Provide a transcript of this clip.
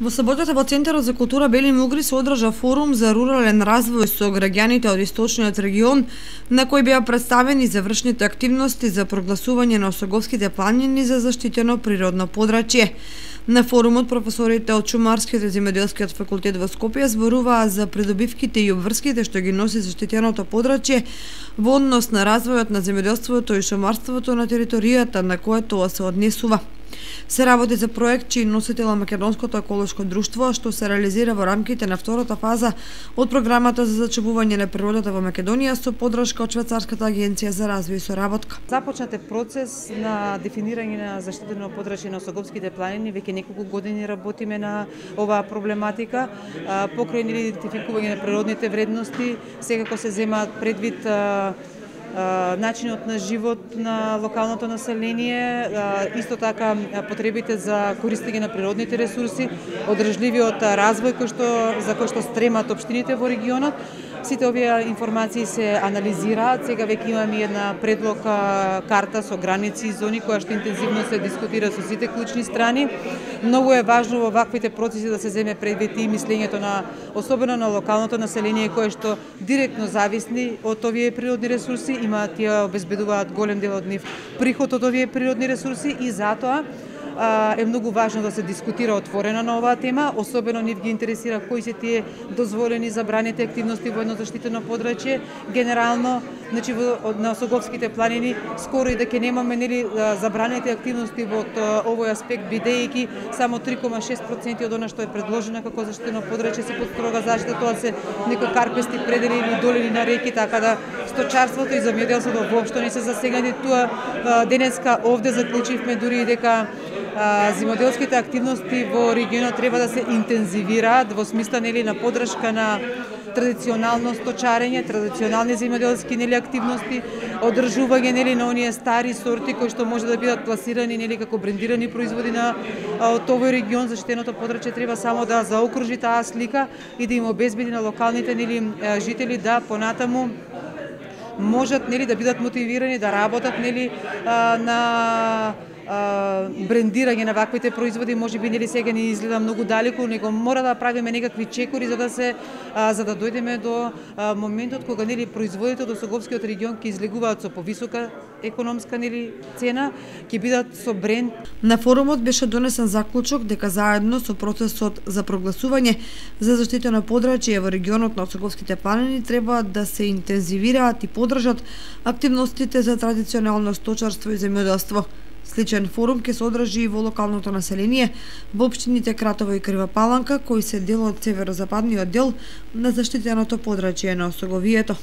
Во саботата во Центарот за култура Бели Мугри се одржа форум за рурален развој со граѓаните од источниот регион, на кој беа представени завршните активности за прогласување на Осоговските планини за заштитено природно подрачје. На форумот професорите од Шумарскиот и Земјоделскиот факултет во Скопје зборуваа за придобивките и обврските што ги носи заштитеното подрачје во однос на развојот на земјоделството и шумарството на територијата на која тоа се однесува. Се работи за проект чиј носител е Македонското еколошко друштво, што се реализира во рамките на втората фаза од програмата за зачувување на природата во Македонија со поддршка од Швајцарската агенција за развој и соработка. Започнат е процес на дефинирање на заштитено подрачје на Осоговските планини. Веќе неколку години работиме на оваа проблематика, покрај идентификување на природните вредности, секако се земаат предвид начинот на живот на локалното население, исто така потребите за користење на природните ресурси, одржливиот развој за кој што стремат општините во регионот. Сите овие информации се анализираат. Сега веќе имаме една предлога карта со граници и зони која што интензивно се дискутира со сите клучни страни. Многу е важно во ваквите процеси да се земе предвид и мислењето на особено на локалното население кое што директно зависни од овие природни ресурси, тие обезбедуваат голем дел од нив приход од овие природни ресурси и затоа е многу важно да се дискутира отворено на оваа тема, особено нив ги интересира кои се тие дозволени забраните активности во едно заштитено подрачје. Генерално, значи на Осоговските планини скоро и да ќе немаме забраните активности во овој аспект, бидејќи само 3,6% од она што е предложено како заштитено подрачје се под строга заштита, тоа се некои карпести предели или долини на реки, така да сточарството и земјоделството воопшто не се засегнати. Тоа денеска овде заклучивме дури и дека земјоделските активности во регионот треба да се интензивираат во смисла на поддршка на традиционално сточарење, традиционални земјоделски активности, одржување на оние стари сорти кои што може да бидат пласирани како брендирани производи од овој регион. Заштитеното подрачје треба само да заокружи таа слика и да им обезбеди на локалните жители да понатаму можат да бидат мотивирани да работат на брендирање на ваквите производи. Можеби сега ни изгледа многу далеку, него мора да правиме некакви чекори за да дојдеме до моментот кога производите од Осоговскиот регион ќе излегуваат со повисока економска цена, ќе бидат со бренд. На форумот беше донесен заклучок дека заедно со процесот за прогласување за заштитено подрачје во регионот на Осоговските планини треба да се интензивираат и поддржат активностите за традиционално сточарство и земјоделство. Сличен форум ќе се одржи и во локалното население во општините Кратово и Крива Паланка, кои се дел од северозападниот дел на заштитеното подрачје на Осоговието.